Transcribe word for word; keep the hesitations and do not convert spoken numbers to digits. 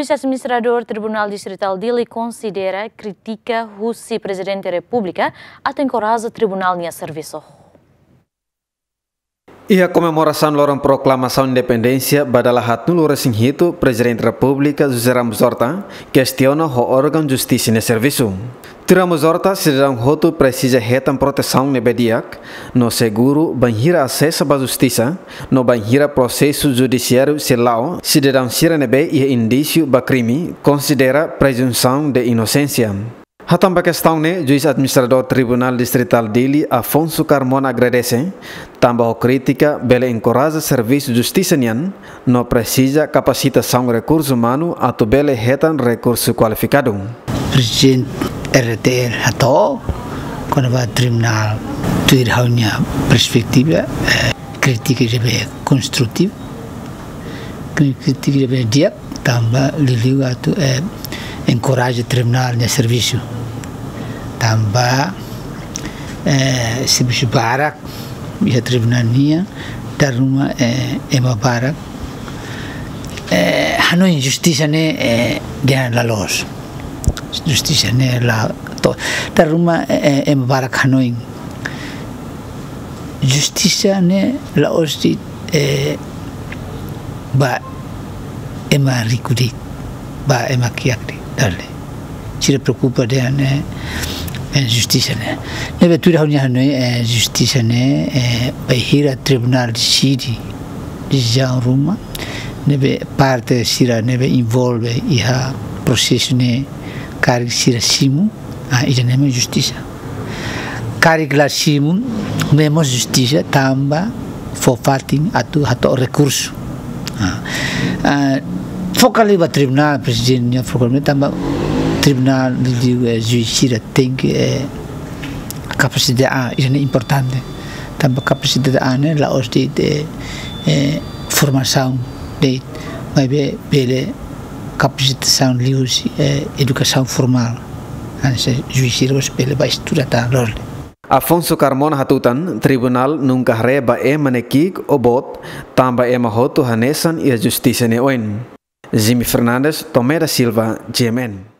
Juiz Administradór Tribunál Distritál Dili konsidera krítika husi Prezidente Repúblika atu enkoraja tribunál nia servisu. Iha komemorasaun loron proklamasaun independénsia ba dala haatnulu-resin-hitu, Prezidente Repúblika José Ramos Horta kestiona ho órgaun justisa nia servisu. Tuir Ramos Horta, sidadaun hotu presiza hetan protesaun ne'ebé di'ak no seguru bainhira asesa ba justisa, no bainhira prosesu judisiáriu sei la'o sidadaun sira ne'ebé iha indísiu ba krime, konsidera prezunsaun de inosénsia. Hatán ba kestaun ne'e, Juiz Administradór Tribunál Distritál Dili, Afonso Carmona, agradese tanba ho krítika bele enkoraja servisu justisa nian, no presiza kapasitasaun rekursu umanu atu bele hetan rekursu kualifikadu. Prezidente R T L hato'o kona-ba tribunál, tuir ha'u-nia perspetiva, eh, krítika ne'ebé konstrutivu, krítika ne'ebé di'ak, tanba liuliu atu, eh, enkoraja tribunál nia servisu. Tanba, eh, servisu barak iha tribunál nian, dala ruma, eh, ema barak, eh, hanoin justisa ne'e, eh, dehan la loos. Justisa ne'e la to'o. Dala ruma, eh, ema barak hanoin justisa ne'e la'ós de'it, eh, ba ema riku de'it, ba ema kiak de'it, dala. Sira preokupa dehan, eh, eh, justisa ne'e. Ne'ebé tuir ha'u-nia hanoin, eh, justisa ne'e, eh, bainhira tribunál deside desizaun ruma, ne'ebé parte sira ne'ebé envolve iha prosesu ne'e karik sira simu, ah, ida-ne'e mak justisa. Karik la simu, ne'e mós justisa, tanba fó fatin atu hato'o rekursu. Ah, ah, fó kali ba tribunál, Prezidente nia fó kali, tanba tribunál liuliu, eh, juiz sira tenke, eh, kapasidade, ah, ida-ne'e importante. Tanba kapasidade, ah, ne'e la'ós de'it, eh, eh, formasaun de'it, maibé bele kapasitasaun liuhusi, eh, edukasaun formál. Hanesan juiz sira mós bele bá estuda tan loos. Afonso Carmona hatutan, tribunál nunka haree ba ema ne'e ki'ik ou boot, tanba ema hotu hanesan iha justisa nia oin. Jimmy Fernandes, Tomé da Silva, G M N.